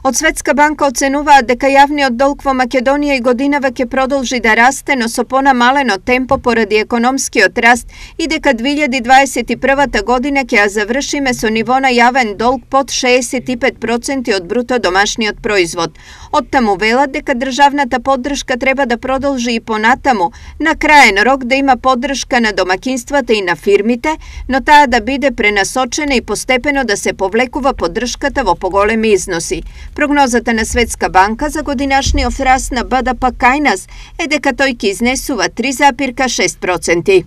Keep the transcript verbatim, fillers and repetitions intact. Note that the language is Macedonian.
Од Светска банка оценуваат дека јавниот долг во Македонија и годинава ќе продолжи да расте, но со понамалено темпо поради економскиот раст и дека две илјади дваесет и прва година ќе ја завршиме со ниво на јавен долг под шеесет и пет проценти од бруто домашниот производ. Оттаму велат дека државната поддршка треба да продолжи и понатаму, на краен рок да има поддршка на домакинствата и на фирмите, но таа да биде пренасочена и постепено да се повлекува поддршката во поголеми износи. Прогнозата на Светска банка за годинашниот раст на Б Д П кај нас е дека тој ќе изнесува три зарез шест проценти.